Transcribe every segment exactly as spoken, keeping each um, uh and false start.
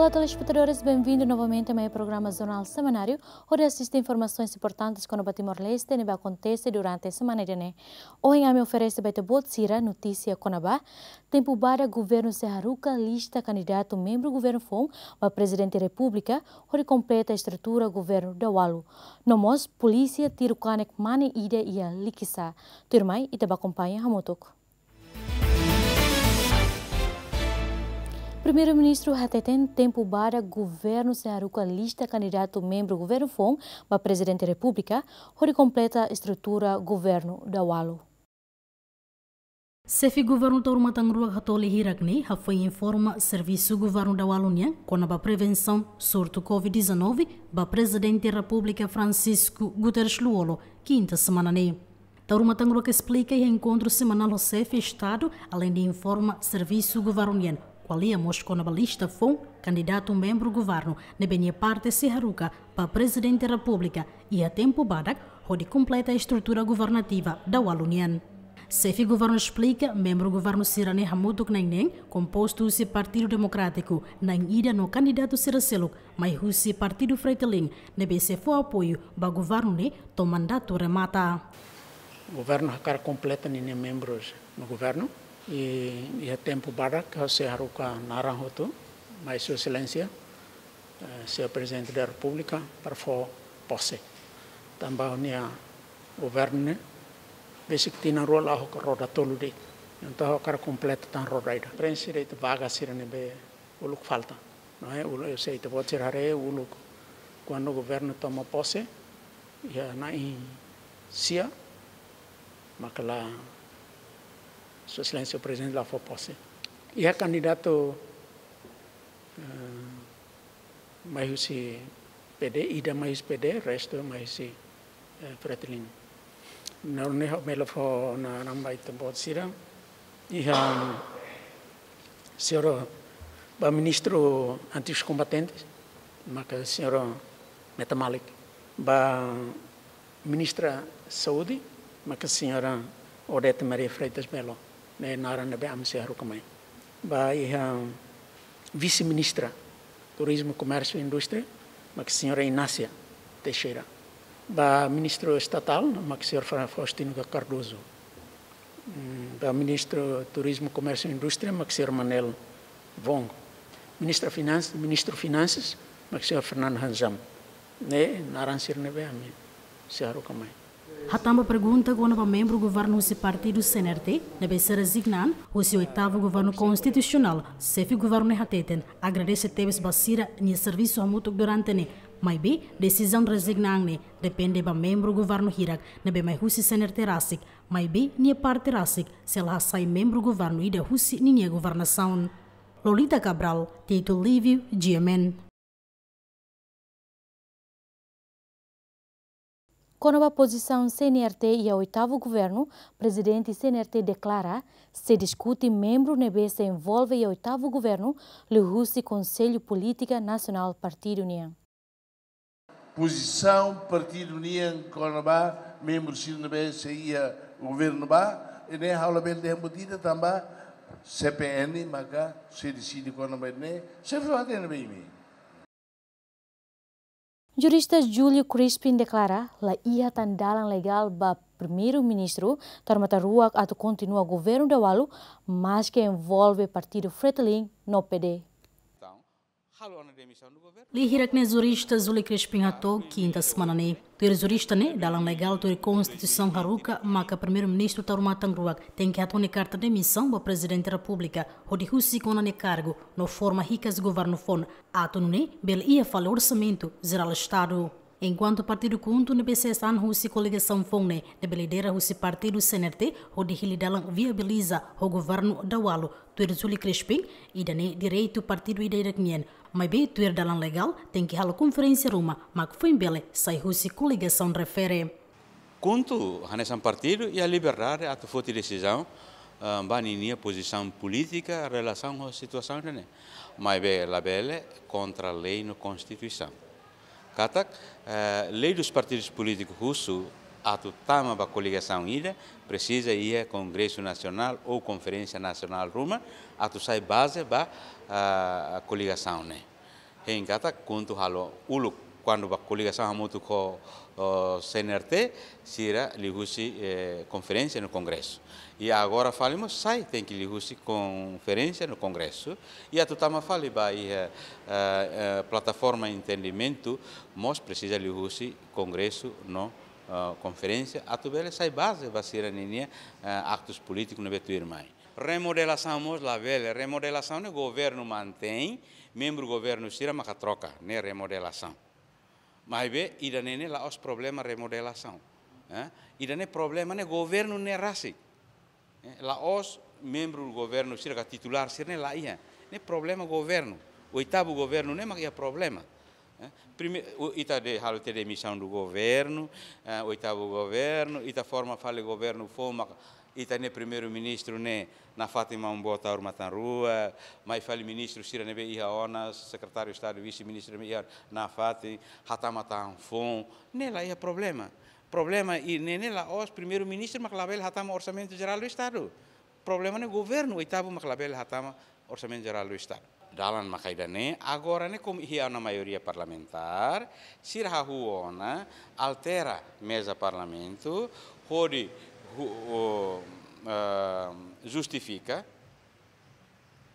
Olá, telespetadores, benvindu novamente mai programa Jornál Semanáriu, hodi asiste informasoens importantes kona-ba Timor-Leste ne'ebé akontese durante semana ida-ne'e. Ohin ami oferese ba ita-boot sira notísia kona-ba tempu badak governu sei haruka lista kandidatu membru governu foun ba Prezidente Repúblika, hodi kompleta estrutura governu daualu. No mós polísia tiru kanek mane ida iha Likisá. Tuirmai, ita bá akompaña hamutuk. Primeiru-Ministru hateten tempu badak governu sei haruka lista kandidatu membru governu foun ba Prezidente Repúblika, hodi kompleta estrutura governu daualu. Xefe governu Taur Matan Ruak Hatoli hirak ne'e hafoin informa servisu governu daualu nian kona-ba prevensaun surtu covid dezanove ba Prezidente Repúblika Francisco Guterres Lú-Olo, kinta semana ne'e. Taur Matan Ruak esplika iha enkontru semanál ho xefe Estadu, aleinde informa servisu governu nian, ko'alia mós kona-ba lista foun kandidatu membru governu ne'ebé nia parte sei haruka ba Prezidente Repúblika iha tempu badak, hodi kompleta estrutura governativa daualu nian. Xefe governu esplika, membru governu sira-ne'e hamutuk na'in neen, kompostu husi Partidu Demokrátiku na'in ida no kandidatu sira seluk mai husi Partidu Fretilin ne'ebé sei fó apoiu ba governu ne'e to'o mandatu remata. Governu hakarak kompleta ninia membrus no governu, i iha tempu badak ha'u sei haruka naran hotu mai Sua Exelénsia, eh, Señór Prezidente da Repúblika para fó pose. Tanba nia governu ne'e besik tinan rua la'o roda tolu de'it. Entaun ha'u hakarak kompleta tan roda ida. Prenxe de'it vaga sira ne'ebé uluk falta. Não é? Uluk, eu sei, ita-boot sira haree uluk kuandu governu toma pose, iha na'in sia, maka la, Sua Exelénsia Prezidente la fó pose. Iha kandidatu, eh, mai husi P D, ida mai husi P D, restu mai husi, eh, Fretilin. Nune'e ha'u bele fó naran ba ita-boot sira. Iha señora ba Ministru Antigos Combatentes, maka señora Meta Malik. Ba Ministra Saúde, maka señora Odete Maria Freitas Belo, ne'e naran ne'ebé ami sei haruka mai. Ba iha Vise-Ministra Turizmu, Komérsiu i Indústria, maka señora Inácia Teixeira. Ba Ministru Estatál, maka señór Fa-, Faustino Cardoso. Mm, ba Ministru Turizmu, Komérsiu i Indústria, maka señór Manel Wong. Ministra Finans-, Ministru Finansas, maka señór Fernando Hanjam. Ne'e naran sira ne'ebé ami sei haruka mai. Hatán ba pergunta kona-ba membru governu husi partidu C N R T ne'ebé sei rezigna an husi oitavu governu konstitusionál, xefe governu ne'e hateten agradese tebes ba sira-nia servisu hamutuk durante ne'e, maibé desizaun rezigna an ne'e depende ba membru governu hirak ne'ebé mai husi C N R T rasik, maibé nia parte rasik sei la hasai membru governu ida husi ninia governasaun. Lolita Cabral, Tito Livio, G M N. Kona-ba pozisaun C N R T iha oitavu governu, Prezidente C N R T deklara sei diskute membru ne'ebé sei envolve iha oitavu governu liuhusi Konsellu Polítika Nasionál partidu nian. Pozisaun partidu nian kona-ba membru sira ne'ebé sei iha governu ba, ne'e ha'u labele dehan buat ida tanba C P N maka sei deside kona-ba ne'e, sei fó hatene ba imi. Jurista Júlio Crispin deklara la iha tan dalan legál ba Primeiru-Ministru Taur Matan Ruak atu kontinua governu daualu, maske envolve partidu Fretilin no P D. Lia hirak ne'e jurista Júlio Crispin hato'o kinta semana ne'e. Tuir jurista ne'e, dalan legál tuir Konstituisaun haruka maka Primeiru-Ministru Taur Matan Ruak tenke hato'o nia karta demisaun ba Prezidente Repúblika hodi husik ona nia kargu no forma hikas governu foun, atu nune'e bele iha fali orsamentu jerál Estadu. Enkuantu partidu KHUNTO ne'ebé sai an husi koligasaun foun ne'e, ne'ebé lidera husi partidu C N R T, hodi hili dalan viabiliza ho governu daualu, tuir Júlio Crispin, ida-ne'e direitu partidu ida-idak nian, maibé tuir dalan legál tenke halo konferénsia ruma mak foin bele sai husi koligasaun refere. KHUNTO hanesan partidu iha liberdade atu foti desizaun, ah, ba ninia pozisaun polítika relasaun ho situasaun ida-ne'e. Maibé labele kontra lei no Konstituisaun. Katak, eh, lei dos partidos políticos husu atu tama ba koligasaun ida, presiza iha Kongresu Nasionál ou Konferénsia Nasionál ruma atu sai baze ba, ah, koligasaun ne'e. Hein katak KHUNTO halo uluk, kuandu ba koligasaun hamutuk ho, oh, C N R T, sira liuhusi, eh, konferénsia no kongresu. I agora fali mós sai tenke liuhusi konferénsia no kongresu. I atu tama fali ba iha, eh, eh, plataforma entendimentu, mós presiza liuhusi kongresu no, eh, konferénsia, atu bele sai baze ba sira-ninia, eh, aktus polítiku ne'ebé tuirmai. Remodelasaun mós labele, remodelasaun ne'e governu mantein, membru governu sira maka troka, ne'e remodelasaun. Maibé, ida-ne'e ne'e la'ós problema remodelasaun. Eh? Ida-ne'e problema ne'e governu ne'e rasik. Eh, la'ós membru governu sira ka titulár sira-ne'e la iha. Ne'e problema governu. Oitavu governu ne'e mak iha problema. Eh, prime-, o, ita de, halo tiha demisaun do governu, eh, oitavu governu, ita forma fali governu foun mak ita-nia primeiru-ministru ne'e nafatin Maun Boot Taur Matan Ruak, mai fali ministru sira ne'ebé iha ona, sekretáriu Estadu, vise-ministru ne'ebé iha nafatin, hatama tan foun, ne'e la iha problema. Problema ida-ne'e ne'e la'ós primeiru-ministru mak labele hatama Orsamentu Jerál do Estadu. Problema ne'e governu oitavu mak labele hatama Orsamentu Jerál do Estadu. Dalan maka ida-ne'e, agora ne'e komu iha ona maioria parlamentár, sira hahú ona, altera meza parlamentu, hodi hu-, o, ah, justifika,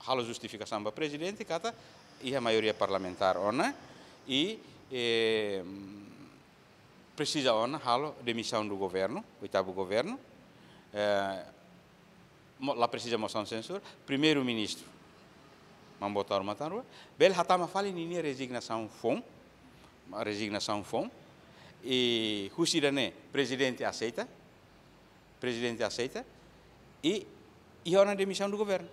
halo justifikasaun ba prezidente, katak iha maioria parlamentár ona, i, eh, presiza ona halo demisaun do governu, oitavu governu, eh, mo-, la presiza mosaun sensura, primeiru-ministru, Maun Boot Taur Matan Ruak, bele hatama fali ninia rezignasaun foun, rezignasaun foun, i husi ida-ne'e prezidente aseita, prezidente aseita, i iha ona demisaun do governu.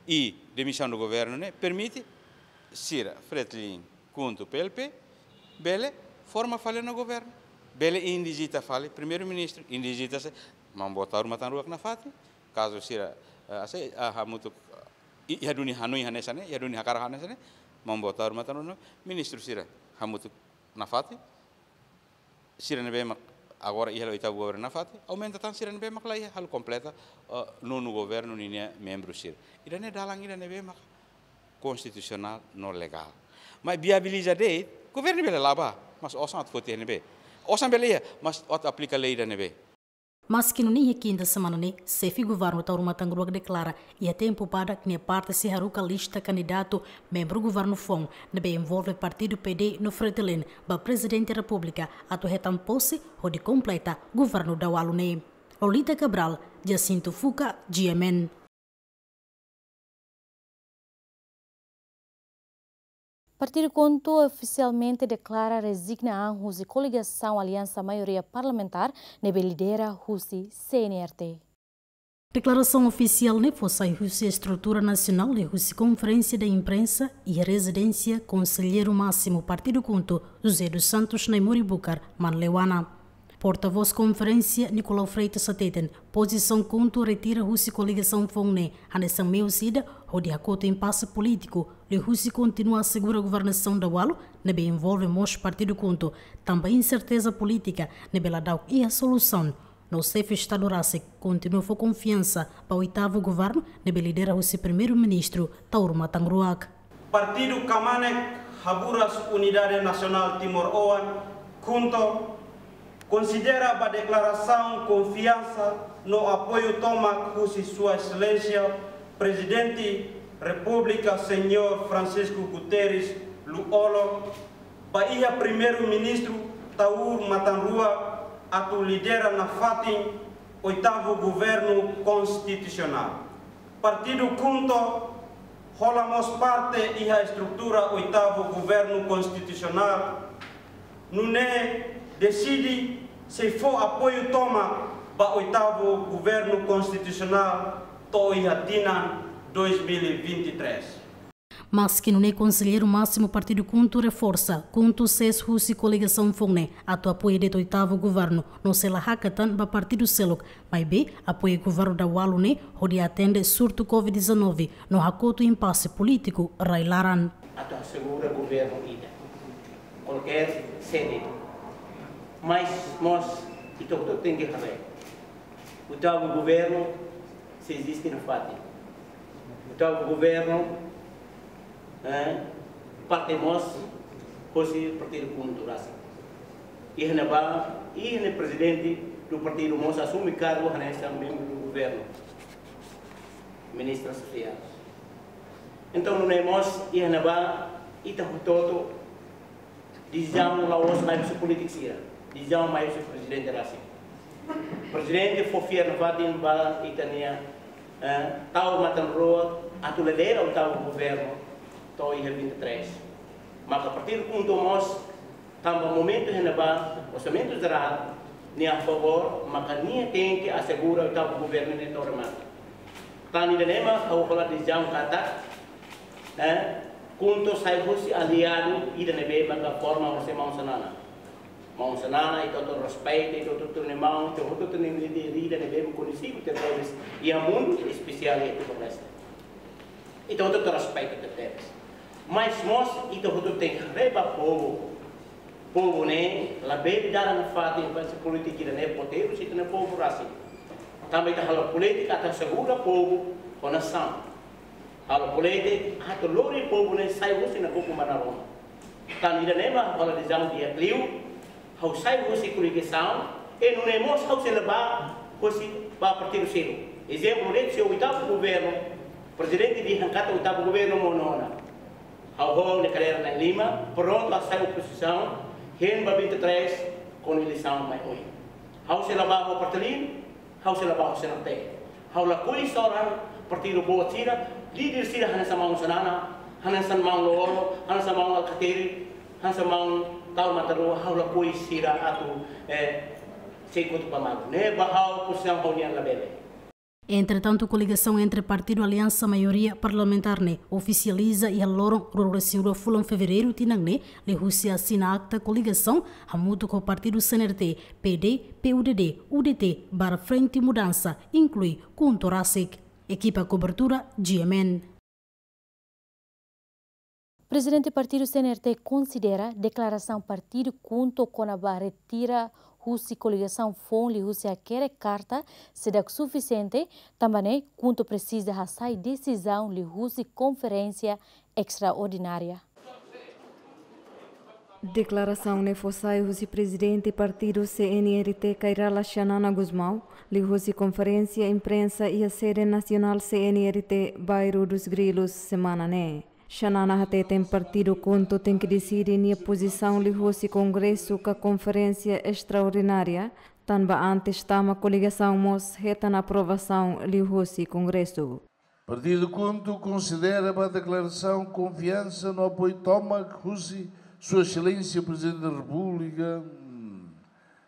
I demisaun do governu ne'e permite sira, Fretilin, KHUNTO, P L P, bele forma fali ona governu. Bele indijita fali primeiru-ministru, indijita se, Maun Boot Taur Matan Ruak nafatin, kazu sira, eh, ase, ah, hamutuk, i, iha duni hanoin hanesan ne'e, iha duni hakarak hanesan ne'e, Maun Boot Taur Matan Ruak, ministru sira hamutuk nafatin, sira ne'ebé mak agora iha oitavu governu nafatin, aumenta tan sira ne'ebé mak la iha, halo kompleta, eh, nonu governu ninia membru sira. Ida-ne'e dalan ida ne'ebé mak konstitusionál no legál. Mas viabiliza de'it, governu bele la bá, mas osan atu foti ne'ebé. Osan bele iha, mas atu aplika lei ida ne'ebé. Maski nune'e iha kinta semana ne'e, xefe governu Taur Matan Ruak deklara iha tempu badak nia parte sei haruka lista kandidatu membru governu foun ne'ebé envolve partidu P D no Fretilin ba Prezidente Repúblika atu hetan pose hodi kompleta governu dahuluk ne'e. Lolita Cabral, Jacinto Fuca, G M N. Partidu KHUNTO ofisialmente deklara rezigna an husi koligasaun aliansa maioria parlamentár ne'ebé lidera husi C N R T. Deklarasaun ofisiál ne'e fó sai husi estrutura nasionál liuhusi konferénsia de imprensa iha rezidénsia konselleiru másimu Partidu KHUNTO, José dos Santos Naimori Bucar, Manleuana. Portavós konferénsia, Nicolau Freitas hateten, pozisaun KHUNTO retira husi koligasaun foun ne'e hanesan meius ida hodi hakotu impase polítiku liuhusi kontinua asegura governasaun dahuluk ne'ebé envolve mós Partidu KHUNTO, tanba inserteza polítika ne'ebé ladauk iha solusaun. No xefe Estadu rasik kontinua fó konfiansa ba oitavu governu ne'ebé lidera husi Primeiru-Ministru Taur Matan Ruak. Partidu Kmanek Haburas Unidade Nasionál Timoroan, KHUNTO, konsidera ba deklarasaun konfiansa no apoiu tomak husi Sua Exelénsia Prezidente Repúblika Señór Francisco Guterres Lú-Olo ba iha Primeiru-Ministru Taur Matan Ruak atu lidera nafatin oitavu governu konstitusionál. Partidu KHUNTO hola mós parte iha estrutura oitavu governu konstitusionál, nune'e deside sei fó apoiu tomak ba oitavu governu konstitusionál to'o iha tinan dois mil e vinte e três. Maski nune'e, konselleiru másimu Partidu KHUNTO reforsa, KHUNTO sees husi koligasaun foun ne'e atu apoia de'it oitavu governu, no sei la hakat tan ba partidu seluk, maibé apoia governu dahuluk ne'e hodi atende surtu covid dezanove no hakotu impase polítiku rai-laran. Atu asegura governu ida. Kualkér sede. Mas mós ita hotu tenke haree. Oitavu governu sei eziste nafatin. Oitavu governu, eh, Parte mós hosi partidu KHUNTO rasik. Iha ne'ebá, iha ne'e prezidente do partidu mós asume kargu hanesan membru do governu, ministra Sofia. Entaun, nune'e mós, iha ne'ebá, ita hotu-hotu, desizaun la'ós mai husi polítiku sira. Desizaun mai husi prezidente rasik. Prezidente fó fiar nafatin ba ita-nia, eh, tau matan-rua atu lidera oitavu governu to'o iha vinte e três. Maka partidu KHUNTO mós, tanba momentu iha ne'ebá, orsamentu jerál, nia a favór, maka nia tenke asegura oitavu governu ne'e to'o remata. Tan ida-ne'e mak ha'u hola desizaun katak, eh, KHUNTO sai husi aliadu ida ne'ebé maka forma hosi maun Xanana. Maun Xanana, ita hotu respeita, ita hotu tune maun, ita hotu tune líder ida ne'ebé koñesidu tebes iha mundu, espesiál iha Timor-Leste. Ita hotu respeita tebes. Mas mós, ita hotu tenke haree ba povu. Povu ne'e labele dada nafatin ba polítika ida ne'e, poteru sira-nia povu rasik. Tanba ita halo polítika atu asegura povu ho nasaun. Halo polítika atu lori povu ne'e sai husi nakukun ba naroman. Tan ida-ne'e mak ha'u hola desizaun di'ak liu, ha'u sai husi koligasaun, i nune'e mós ha'u sei la bá husi ba partidu seluk. Ezemplu, durante oitavu governu, prezidente dehan katak oitavu governu monu ona. Ha'u ho ha'u-nia kadeira na'in-lima, prontu atu sai opozisaun, hein ba vinte e três, kona eleisaun mai oin. Ha'u sei la bá ho partidu, ha'u sei la bá ho CNRT. Ha'u lakohi soran partidu boot sira, líder sira hanesan maun Xanana, hanesan maun Lú-Olo, hanesan maun Alkatiri, hanesan maun Tau Matan-Rua, ha'u lakohi sira atu, eh, sei kotu ba malu. Ne'e ba ha'u pozisaun ha'u-nian labele. Entretantu, koligasaun entre partidu Aliansa Maioria Parlamentár ne'e ofisializa iha loron ruanulu resin rua fulan Fevereiru tinan ne'e, liuhusi asina akta koligasaun hamutuk ho partidu CNRT, PD, PUDD, UDT, barra Frente Mudança, inklui KHUNTO rasik. Ekipa kobertura, G M N. Prezidente partidu CNRT konsidera deklarasaun partidu KHUNTO kona-ba retira husi koligasaun foun liuhusi hakerek karta seidauk sufisiente, tanba ne'e KHUNTO presiza hasai desizaun liuhusi konferénsia estraordinária. Deklarasaun ne'e fó sai husi prezidente partidu CNRT Kay Rala Xanana Gusmão, liuhusi konferénsia imprensa iha sede nasionál CNRT, Bairro dos Grilos, semana ne'e. Xanana hateten partidu KHUNTO tenke deside nia pozisaun liuhusi kongresu ka konferénsia estraordinária, tanba antes tama koligasaun mós hetan aprovasaun liuhusi kongresu. Partidu KHUNTO konsidera ba deklarasaun konfiansa no apoiu tomak husi Sua Exelénsia Prezidente da Repúblika. Hmm.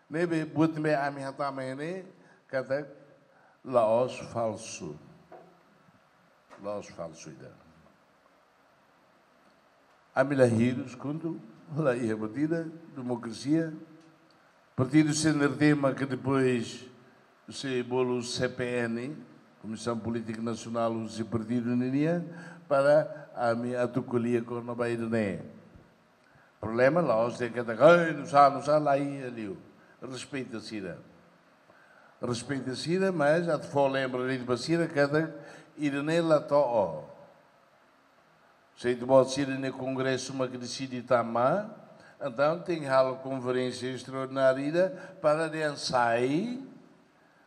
Ne'ebé buat ne'ebé ami hatama iha ne'e katak la'ós falsu. La'ós falsu ida. Ami la hirus KHUNTO, la iha buat ida, demokrasia. Partidu CNRT mak depois sei bolu C P N, Komisaun Polítika Nasionál husi partidu ninian, para ami atu ko'alia kona-ba ida-ne'e. Problema la'ós dehan katak, "Ai, nusá, nusá, la iha liu." Respeita sira. Respeita sira, mas atu fó lembra de'it ba sira katak ida-ne'e la to'o. Se ita-boot sira-nia kongresu mak deside tama, entaun tenke halo konferénsia estraordinária ida para dehan sai,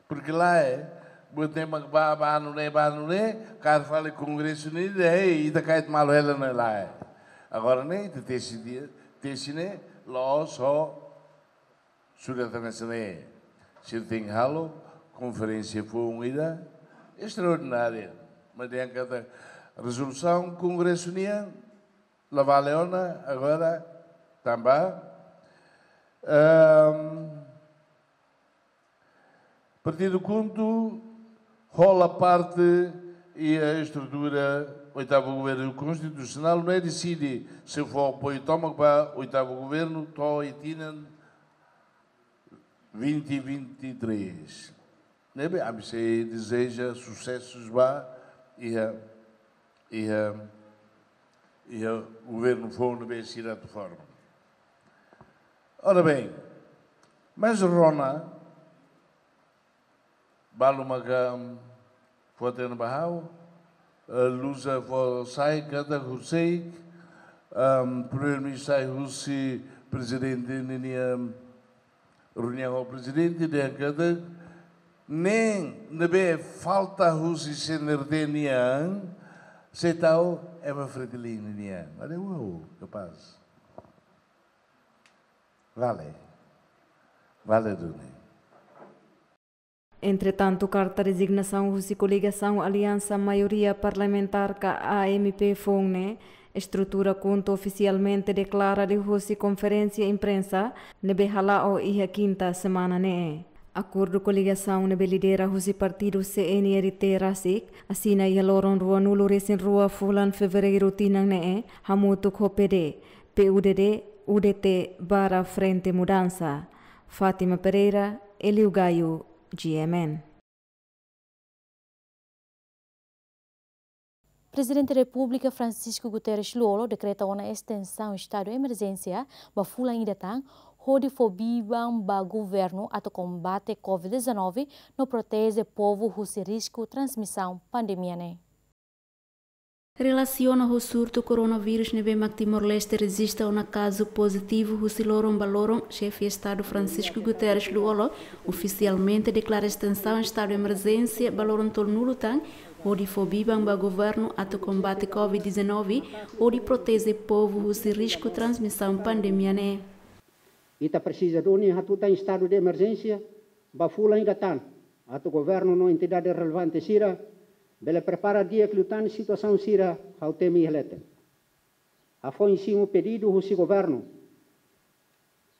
porque lae, buat ne'e mak bá, bá nune'e, bá nune'e, kaer fali kongresu ne'e, dehan, "Ei, ita kait malu hela ne'e lae." Agora ne'e, ita tesi dia, tesi ne'e, la'ós ho surat hanesan ne'e. Sira tenke halo konferénsia foun ida estraordinária. Mas dehan katak rezolusaun kongresu nian la vale ona agora tanba, ehm, partidu KHUNTO hola parte iha estrutura oitavu governu konstitusionál, ne'e deside sei fó apoiu tomak ba oitavu governu to'o iha tinan vinte vinte e três. Ne'ebé ami sei dezeja susesu ba iha, iha, iha governu foun ne'ebé sira atu forma. Ora bem, mas rona, balu maka fó hatene ba ha'u, eh, Luza fó sai katak horiseik, Am, Primeiru-Ministru sai husi Prezidente ninia reuniaun ho Prezidente dehan katak nein ne'ebé falta husi C N R T nian, sei tau ema Fretilin nian. Ade, uau, kapás. Vale. Vale duni. Entretantu, karta rezignasaun husi koligasaun Aliansa Maioria Parlamentár ka A M P foun ne'e, estrutura KHUNTO ofisialmente deklara liuhusi konferénsia imprensa ne'ebé hala'o iha kinta semana ne'e. Akordu koligasaun ne'ebé lidera husi partidu C N R T rasik, asina iha loron ruanulu-resin-rua fulan Fevereiru tinan ne'e, hamutuk ho P D, P U D D, U D T barra Frente Mudansa. Fátima Pereira, Elio Gaio, G M N. Prezidente Repúblika Francisco Guterres Lú-Olo dekreta ona estensaun estadu emerjénsia ba fulan ida tan, hodi fó biban ba governu atu kombate covid dezanove no proteje povu husi risku transmisaun pandemia ne'e. Relasiona ho surtu koronavírus ne'ebé mak Timor-Leste rejista ona kazu pozitivu husi loron ba loron, Xefe Estadu Francisco Guterres Lú-Olo ofisialmente deklara estensaun estadu emerjénsia ba loron tolunulu tan, hodi fó biban ba governu atu kombate covid dezanove, hodi proteje povu husi risku transmisaun pandemia ne'e. Ita presiza duni hatutan estadu de emerjénsia ba fulan ida tan, atu governu no entidade relevante sira bele prepara di'ak liután situasaun sira, ha'u temi iha leten. Hafoin simu pedidu husi governu,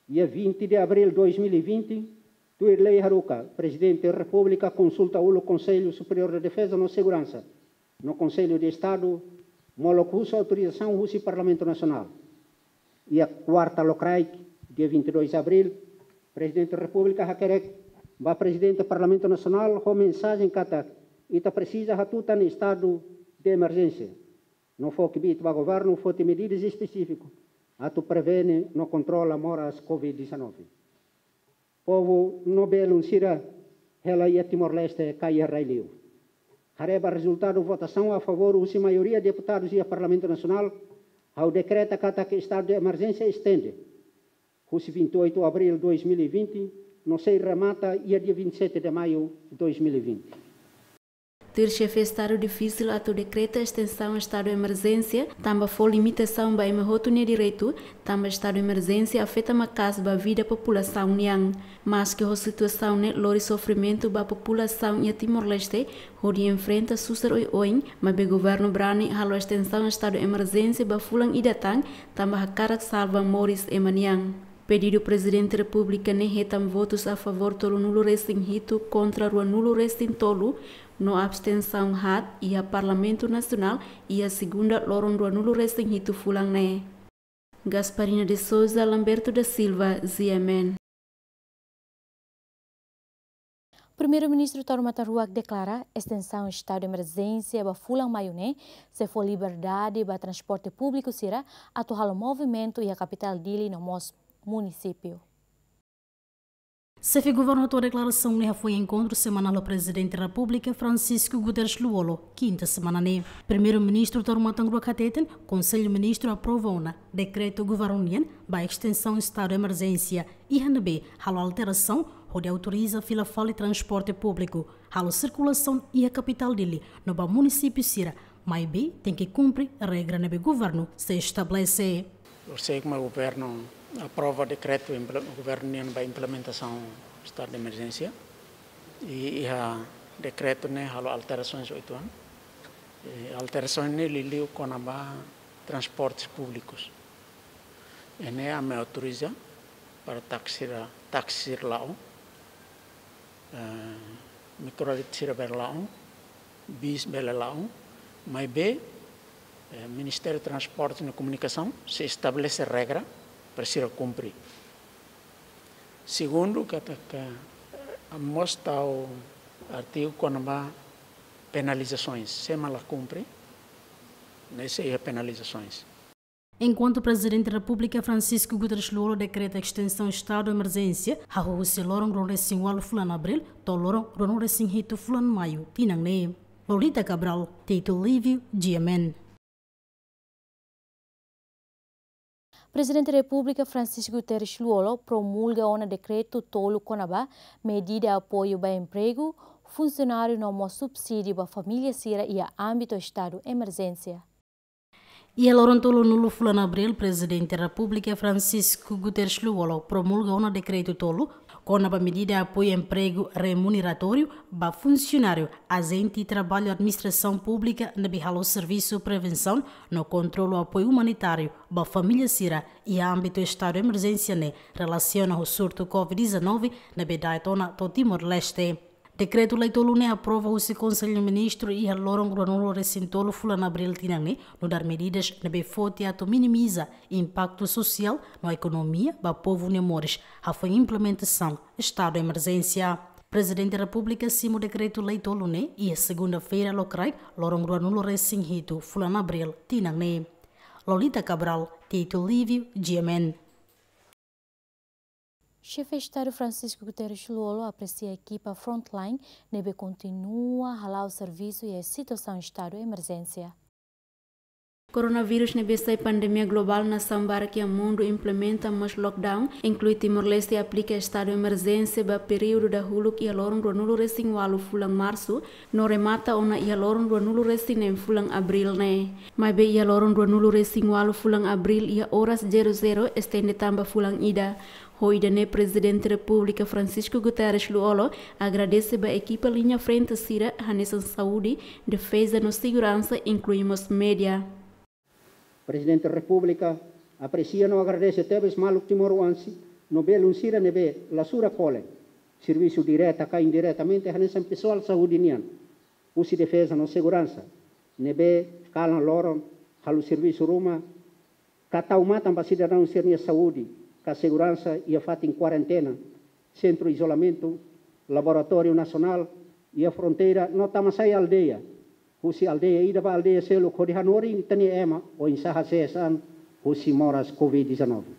dia vinte de abril dois mil e vinte, tuir lei haruka, Prezidente Repúblika konsulta uluk Konsellu Superiór de Defeza no Seguransa no Konsellu de Estadu, molok husu autorizasaun husi Parlamentu Nasionál. Iha kuarta lokraik, dia vinte e dois abril, Prezidente Repúblika hakerek ba Prezidente Parlamentu Nasionál ho mensajen katak ita presiza hatutan estadu de emerjénsia no fó kbiit ba governu foti medidas espesífiku atu prevene no kontrola moras covid dezanove. Povu no belun sira hela iha Timor-Leste ka iha rai-li'ur. Haree ba rezultadu votasaun a favór husi maioria deputadus iha Parlamentu Nasionál, ha'u dekreta katak estadu de emerjénsia estende husi vinte e oito abril dois mil e vinte, no sei remata iha dia vinte e sete de maio dois mil e vinte. Tuir Xefe Estadu, difisil atu dekreta estensaun estadu emerjénsia, tanba fó limitasaun ba ema hotu nia direitu, tanba estadu emerjénsia afeta maka'as ba vida populasaun nian. Maski ho situasaun ne'e lori sofrimentu ba populasaun iha Timor-Leste, hodi enfrenta susar oioin, maibé governu brani halo estensaun estadu emerjénsia ba fulan ida tan, tanba hakarak salva moris ema nian. Pedidu Prezidente Repúblika ne'e hetan votus a favór tolunulu-resin-hitu kontra ruanulu-resin-tolu, no abstensaun haat iha Parlamentu Nasionál iha segunda loron ruanulu-resin-hitu fulan ne'e. Gasparina de Sousa, Lamberto da Silva, G M N. Primeiru-Ministru Taur Matan Ruak deklara estensaun estadu de emerjénsia ba fulan maiu ne'e sei fó liberdade ba transporte públiku sira atu halo movimentu iha kapitál Dili no mós munisípiu. Xefe Governu hato'o deklarasaun ne'e hafoin enkontru semanál ho Prezidente Repúblika Francisco Guterres Lú-Olo, kinta semana ne'e. Primeiru-Ministru Taur Matan Ruak hateten, Konsellu Ministru aprova ona dekretu governu nian ba estensaun estadu de emerjénsia, iha ne'ebé halo alterasaun hodi autoriza fila fali transporte públiku halo sirkulasaun iha kapitál Dili no ba munisípiu sira, maibé tenke kumpre regra ne'ebé governu sei estabelese. Lorsek mak governu aprova dekretu imple-, governu nian ba implementasaun estadu de emerjénsia, i iha dekretu ne'e halo alterasaun oituan. I alterasaun ne'e liuliu kona-ba transportes públikus. Ne'e ami autoriza para taksi ra-, taksi la'o, eh, mikrolit sira bele la'o, bis bele la'o, maibé, eh, Ministériu Transporte no Komunikasaun sei estabelese regra para sira kumpre. Segundu, katak, eh, mós tau artigu kona-ba penalizasoens, sé mak la kumpre, ne'e sei iha penalizasoens. Enkuantu Prezidente Repúblika Francisco Guterres Lú-Olo dekreta estensaun estadu de emerjénsia, hahú husi loron ruanulu-resin-ualu fulan Abríl to'o loron ruanulu-resin-hitu fulan Maiu tinan ne'e. Lolita Cabral, Tito Livio, G M N. Prezidente Repúblika Francisco Guterres Lú-Olo promulga ona dekretu tolu kona-ba medida apoiu ba empregu, funsionáriu no mós subsídiu ba família sira iha ámbitu estadu emerjénsia. Iha loron tolunulu fulan Abríl, Prezidente Repúblika Francisco Guterres Lú-Olo promulga ona dekretu tolu kona-ba medida apoiu empregu remuneratóriu ba funsionáriu, ajente traballu administrasaun públika ne'ebé halo servisu prevensaun no kontrolu apoiu umanitáriu ba família sira iha ámbitu estadu emerjénsia ne'e relasiona ho surtu covid dezanove ne'ebé da'et ona to'o Timor-Leste. Dekretu-lei tolu ne'e aprova husi Konsellu Ministru iha loron ruanulu resin tolu fulan Abríl tinan ne'e, nu'udar medidas ne'ebé foti atu minimiza impaktu sosiál no ekonomia ba povu nia moris, hafoin implementasaun estadu emerjénsia. Prezidente Repúblika simu dekretu-lei tolu ne'e iha segunda-feira lokraik, loron ruanulu resin hitu fulan Abríl tinan ne'e. Lolita Cabral, Tito Livio, G M N. Xefe Estadu Francisco Guterres Lú-Olo apresia ekipa frontline ne'ebé kontinua hala'o servisu iha situasaun estadu emerjénsia. Koronavírus ne'ebé sai pandemia globál, nasaun barak iha mundu implementa mós lockdown, inklui Timor-Leste aplika estadu emerjénsia ba períodu dahuluk iha loron ruanulu resin ualu fulan Marsu, no remata ona iha loron ruanulu resin neen fulan Abríl ne'e. Maibé iha loron ruanulu resin ualu fulan Abríl iha oras zero zero estende tan ba fulan ida. Ho ida-ne'e Prezidente Repúblika Francisco Guterres Lú-Olo agradese ba ekipa liña frente sira hanesan saúde, defeza no seguransa, inklui mós média. Prezidente Repúblika apresia no agradese tebes maluk timoroan sira no belun sira ne'ebé la sura kole servisu direta ka indiretamente hanesan pesoál saúde nian, husi defeza no seguransa, ne'ebé kalan loron halo servisu ruma ka tau matan ba sidadaun sira-nia saúde ka seguransa iha fatin kuarentena, sentru izolamentu, laboratóriu nasionál iha fronteira no tama sai aldeia. Husi aldeia ida ba aldeia seluk hodi hanorin ita-nia ema oinsá hasees an husi moras covid dezanove.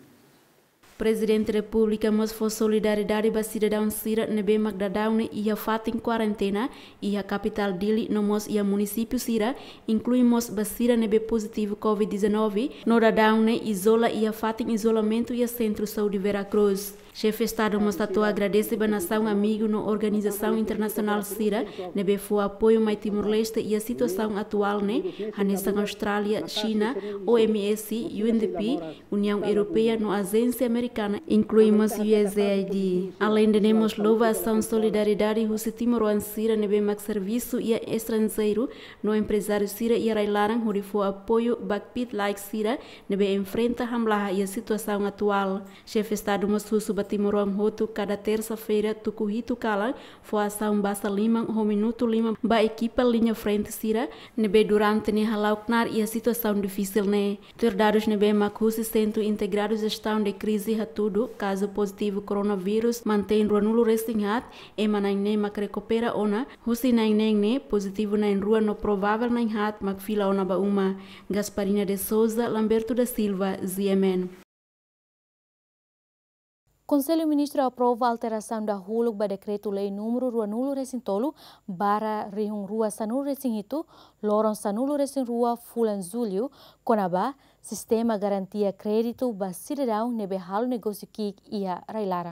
Prezidente Repúblika mós fó solidariedade ba sidadaun sira ne'ebé mak daudaun ne'e iha fatin kuarentena iha kapitál Dili no mós iha munisípiu sira, inklui mós ba sira ne'ebé pozitivu covid dezanove no daudaun ne'e izola iha fatin izolamentu iha Sentru Saúde Vera Cruz. Xefe Estadu mós hato'o agradese ba nasaun amigu no organizasaun internasionál sira ne'ebé fó apoiu mai Timor-Leste iha situasaun atuál ne'e, hanesan Austrália, Xina, O M S, U N D P, Uniaun Europeia no ajénsia amerikana, inklui mós U S A I D. Aleinde ne'e mós louva asaun solidariedade husi timoroan sira ne'ebé mak servisu iha estranjeiru no emprezáriu sira iha rai-laran hodi fó apoiu ba kbiit-laek sira ne'ebé enfrenta hamlaha iha situasaun atuál. Xefe Estadu mós husu ba timoroan hotu kada tersa-feira tuku hitu kalan fó asaun basa liman ho minutu lima ba ekipa liña frente sira ne'ebé durante ne'e hala'o knaar iha situasaun difisil ne'e. Tuir dadus ne'ebé mak husi Sentru Integradu Jestaun de Krize hatudu, kazu pozitivu koronavírus mantein ruanulu resin haat, ema na'in neen mak rekupera ona, husi na'in neen ne'e pozitivu na'in rua no provável na'in haat mak fila ona ba uma. Gasparina de Souza, Lamberto da Silva, G M N. Konsellu Ministru aprova alterasaun dahuluk ba dekretu-lei númeru ruanulu resin tolu barra rihun rua sanulu resin hitu, loron sanulu resin rua fulan Jullu, kona-ba sistema garantia kréditu ba sidadaun ne'ebé halo negósiu ki'ik iha rai-laran.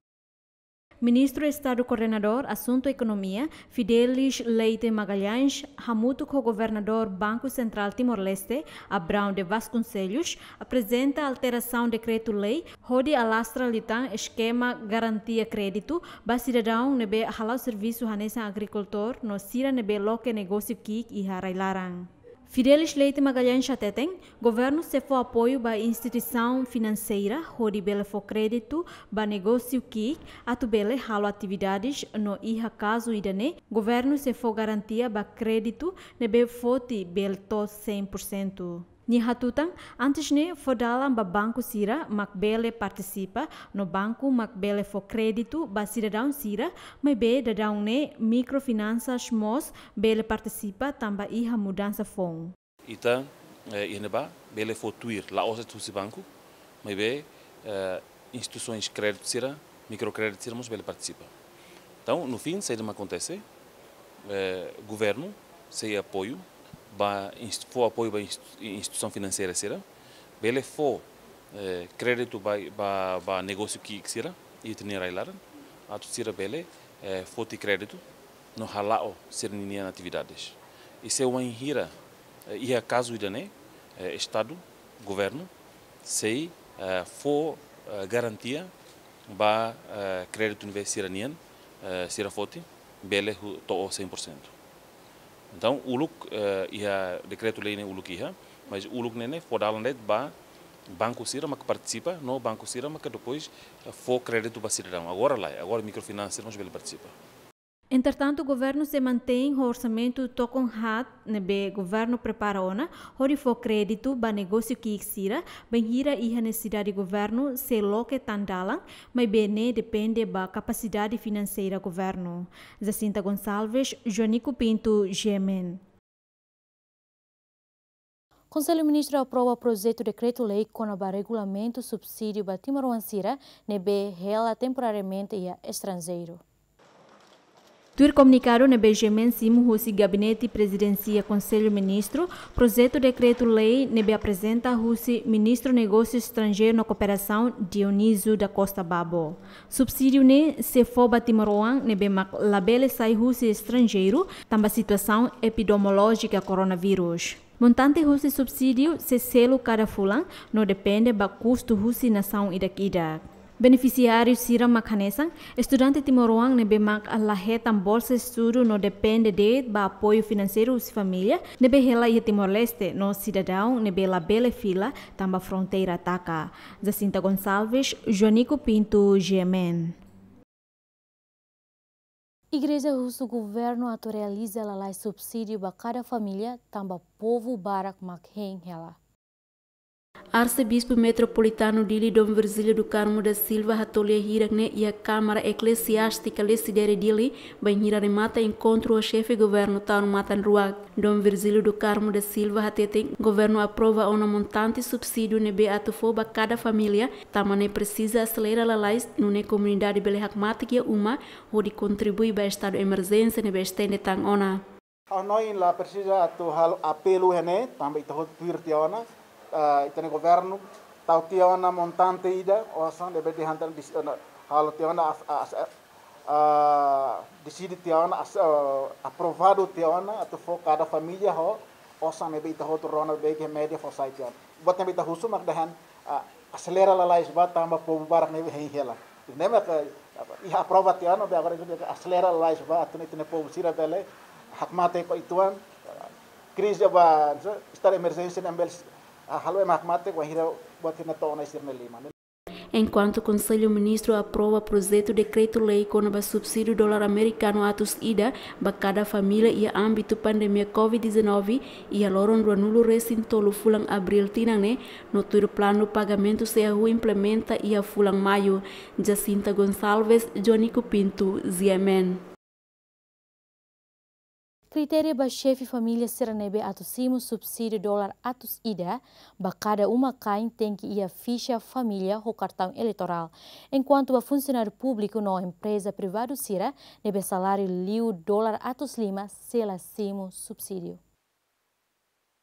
Ministru Estadu Koordenadór Asuntu Ekonomia, Fidelis Leite Magalhães, hamutuk ho Governadór Banku Sentrál Timor-Leste, Abrão de Vasconcelos, aprezenta alterasaun dekretu-lei hodi alastra liután eskema garantia kréditu ba sidadaun ne'ebé hala'o servisu hanesan agrikultór no sira ne'ebé loke negósiu ki'ik iha rai-laran. Fidelis Leite Magalhães hateten, governu sei fó apoiu ba instituisaun finanseira hodi bele fó kréditu ba negósiu ki'ik atu bele halo atividades no iha kazu ida-ne'e, governu sei fó garantia ba kréditu ne'ebé foti bele to'o cem por cento. Nia hatutan, antes ne'e fó dalan ba banku sira mak bele partisipa, no banku mak bele fó kréditu ba sidadaun sira, maibé daudaun ne'e mikrofinansas mós bele partisipa tanba iha mudansa foun. Ita, eh, iha ne'ebá, bele fó tuir, la'ós husi banku, maibé, eh, instituisoens kréditu sira, mikrokréditu sira mós bele partisipa. Entaun, no fin, saida mak akontese, eh, governu sei apoiu ba inst-, fó apoiu ba inst-, instituisaun finanseira sira, bele fó, eh, kréditu ba, ba, ba negósiu ki'ik sira iha ita-nia rai-laran, atu sira bele, eh, foti kréditu no hala'o sira-ninia atividades. I se wainhira, eh, iha kazu ida-ne'e, eh, Estadu, governu, sei, eh, fó, eh, garantia ba, eh, kréditu ne'ebé sira-nian, eh, sira foti, bele hu-, to'o cem por cento. Entaun, uluk, eh, iha dekretu-lei ne'e uluk iha, mas uluk ne'e ne'e fó dalan de'it ba banku sira maka partisipa, no banku sira maka depois, eh, fó kréditu ba sidadaun. Agora lae, agora mikrofinansa sira mós bele partisipa. Entretantu, governu sei mantein ho orsamentu tokon haat ne'ebé governu prepara ona, hodi fó kréditu ba negósiu ki'ik sira, bainhira iha nesesidade governu sei loke tan dalan, maibé ne'e depende ba kapasidade finanseira governu. Jacinta Gonçalves, Joanico Pinto, G M N. Konsellu Ministru aprova projetu dekretu-lei kona-ba regulamentu subsídiu ba timoroan sira ne'ebé hela temporariamente iha estranjeiru. Tuir komunikadu ne'ebé G M N simu husi Gabinete Prezidénsia Konsellu Ministru, projetu dekretu-lei ne'ebé aprezenta husi Ministru Negósius Estranjeiru no Kooperasaun, Dionísio da Costa Babo. Subsídiu ne'e sei fó ba timoroan ne'ebé mak labele sai husi estranjeiru, tanba situasaun epidemiolójika koronavírus. Montante husi subsídiu sei selu kada fulan, no depende ba kustu husi nasaun ida-idak. Benefisiáriu sira mak hanesan estudante timoroan ne'ebé mak la hetan bolsa estudu no depende de'it ba apoiu finanseiru husi família ne'ebé hela iha Timor-Leste, no sidadaun ne'ebé labele fila tanba fronteira taka. Jacinta Gonçalves, Joanico Pinto, G M N. Igreja husu governu atu realiza lalais subsídiu ba kada família, tanba povu barak mak hein hela. Arsebispu Metropolitanu Dili, Dom Virgílio do Carmo da Silva, hato'o lia hirak-ne'e iha Kámara Eklesiástika Lecidere Dili, bainhira remata enkontru ho xefe governu ta'uk matan-ruak. Dom Virgílio do Carmo da Silva hateten, governu aprova ona montante subsídiu ne'ebé atu fó ba kada família, tanba ne'e presiza aselera lalais, nune'e komunidade bele hakmatek iha uma, hodi kontribui ba estadu emerjénsia ne'ebé estende tan ona. Ha'u hanoin la presiza atu halo apelu iha ne'e, tanba ita hotu tuir tiha ona, ah, ita-nia governu tau tiha ona montante ida, osan ne'ebé dehan tan dis-, ona, halo tiha ona as-, as-, ah, deside tiha ona as-, ah, aprovadu tiha ona, atu fó kada família ho osan ne'ebé ita hotu rona beibeik iha média fó sai tiha ona. Buat ne'ebé ita husu mak dehan, ah, aselera lalais ba tanba povu barak ne'e hein hela. Ne'e mak, ah, iha aprova tiha ona, be agora ita aselera lalais ba atu nune'e ita-nia povu sira bele hakmatek ba uitoan, ah, krize ba, so, estadu emerjénsia ne'e bele, ah, halo ema hakmatek ba hira buat hira to'o ona sira-nia liman. Enkuantu Konsellu Ministru aprova projetu dekretu-lei kona-ba subsídiu dolar amerikanu atus ida ba kada família iha ámbitu pandemia covid dezanove, iha loron ruanulu-resin-tolu fulan Abríl tinan ne'e, no tuir planu pagamentu sei hahú implementa iha fulan Maiu. Jacinta Gonçalves, Joanico Pinto, G M N. Kritéria ba xefe família sira ne'ebé atu simu subsídiu dolar atus ida ba kada uma-kain tenke iha fixa família ho kartaun eleitorál. Enkuantu ba funsionáriu públiku no empreza privadu sira ne'ebé saláriu liu dolar atus lima sei la simu subsídiu.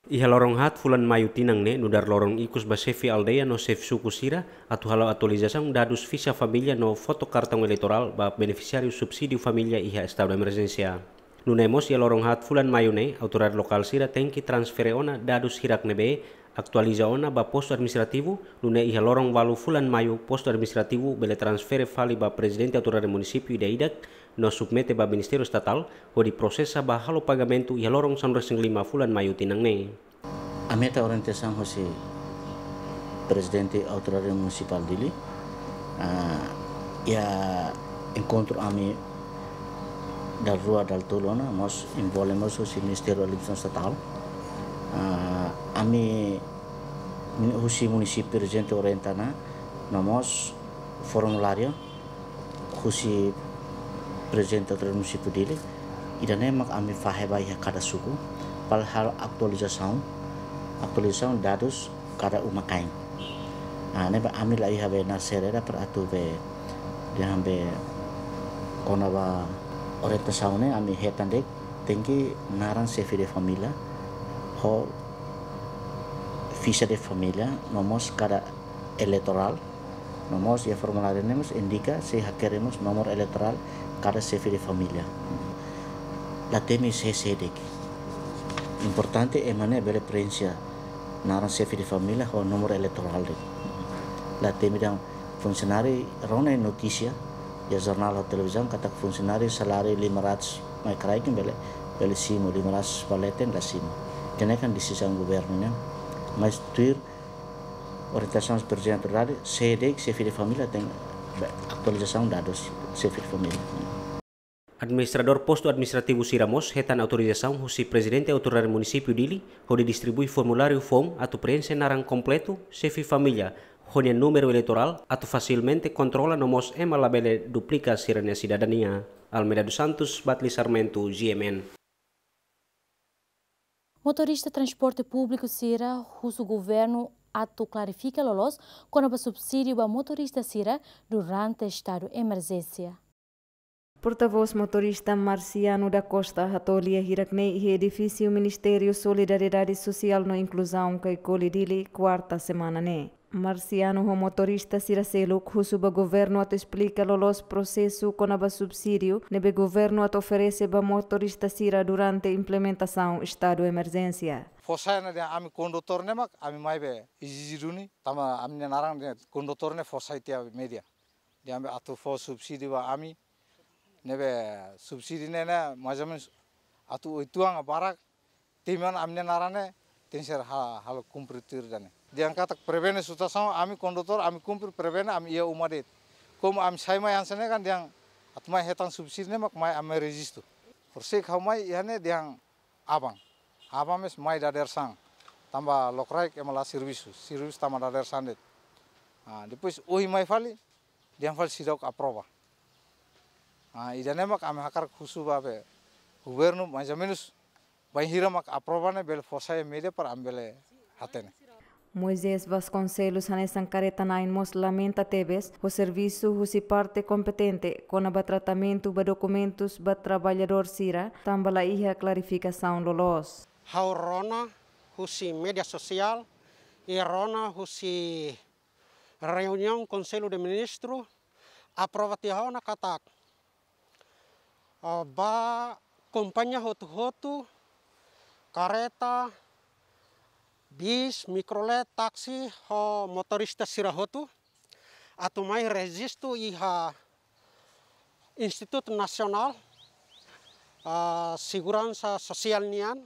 Iha loron haat fulan Maiu tinan ne'e, nu'udar loron ikus ba xefe aldeia no xefe suku sira, atu halo atualizasaun dadus fixa família no foto kartaun eleitorál ba benefisiáriu subsídiu família iha estadu emerjénsia. Nune'e mós iha loron haat fulan Maiu ne'e, autoridade lokál sira tenke transfere ona dadus hirak ne'ebé atualiza ona ba postu administrativu, nune'e iha loron ualu fulan Maiu postu administrativu bele transfere fali ba prezidente autoridade munisípiu ida-idak, no submete ba Ministériu Estatál, hodi prosesa ba halo pagamentu iha loron sanulu-resin-lima fulan Maiu tinan ne'e. Ami hetan orientasaun husi Prezidente Autoridade Munisipál Dili, ah, iha enkontru ami dala rua dala tolu ona, mós envolve mós husi Ministériu Administrasaun Estatál. Ah, ami muni-, husi munisípiu prezidente orienta ona, no mós formuláriu husi Prezidente Autoridade Munisípiu Dili, ida-ne'e mak ami fahe ba iha kada suku, para halo atualizasaun, atualizasaun dadus kada uma-kain. Ah, ne'ebé ami la iha be naran sira ida para atu be, dehan be kona-ba orientasaun ne'e ami hetan de'it, tenke naran xefe de família, ho fixa de família, no mós kada eleitorál, no mós iha formuláriu ne'e mós indika sei hakerek mós númeru eleitorál kada xefe de família. La temi sé sé de'it. Importante ema ne'e bele preenxe naran xefe de família ho númeru eleitorál de'it. La temi dehan funsionáriu rona notísia iha jornál ho televizaun katak funsionáriu saláriu lima ratus mai kraik bele, bele simu, lima ratus ba leten la simu. Ida-ne'e kan desizaun governu nian. Mas tuir orientasaun Prezidente Autoridade, sé de'it xefe de família tenke atualizasaun dadus xefe de família. Administradór postu administrativu sira mós hetan autorizasaun husi Prezidente Autoridade Munisípiu Dili hodi distribui formuláriu foun atu preenxe naran kompletu xefe família ho nia númeru eleitorál atu fasilmente kontrola no mós ema labele duplika sira-nia sidadania. Almeida dos Santos, Batli Sarmento, G M N. Motorista transporte públiku sira husu governu atu klarifika loloos kona-ba subsídiu ba motorista sira durante estadu emerjénsia. Portavós motorista Marciano da Costa hato'o lia hirak-ne'e iha edifísiu Ministériu Solidariedade Sosiál no Inkluzaun Caicoli Dili, kuarta semana ne'e. Marciano ho motorista sira seluk husu ba governu atu esplika loloos prosesu kona-ba subsídiu ne'ebé governu atu oferese ba motorista sira durante implementasaun estadu emerjénsia. Fó sai ona dehan ami kondutór ne'e mak ami mai be ezije duni, tanba ami-nia naran dehan kondutór ne'e fó sai tiha média. Dehan be atu fó subsídiu ba ami, ne'ebé subsídiu ne'e, ne'e mais ou menos atu oituan barak, temi ona ami-nia naran ne'e tenke ser ha-, halo kumpre tuir ida-ne'e. Dehan katak prevene situasaun, ami kondutór, ami kumpre prevene, ami iha uma de'it. Komu ami sai mai hanesan ne'e kan dehan atu mai hetan subsídiu ne'e mak mai ami rejistu. Horisehik ha'u mai iha ne'e dehan aban. Aban mós mai dadeer-saan. Tanba lokraik ema la servisu, servisu tanba dadeer-saan de'it. Ah, depois ohin mai fali, dehan fali seidauk aprova. Ah, ida-ne'e mak ami hakarak husu ba be governu, mais ou menos, bainhira mak aprova ne'e bele fó sai média para ami bele hatene. Moisés Vasconcelos hanesan karreta na'in mós lamenta tebes ho servisu husi parte kompetente kona-ba tratamentu ba dokumentus ba traballadór sira, tanba la iha klarifikasaun loloos. Ha'u rona husi média sosiál, i rona husi reuniaun Konsellu de Ministru, aprova tiha ona katak, ah, ba kompañia hotu-hotu, karreta, bis, mikrolet, taksi, ho motorista sira hotu, atu mai rejistu iha Institutu Nasionál, ah, Seguransa Sosiál nian,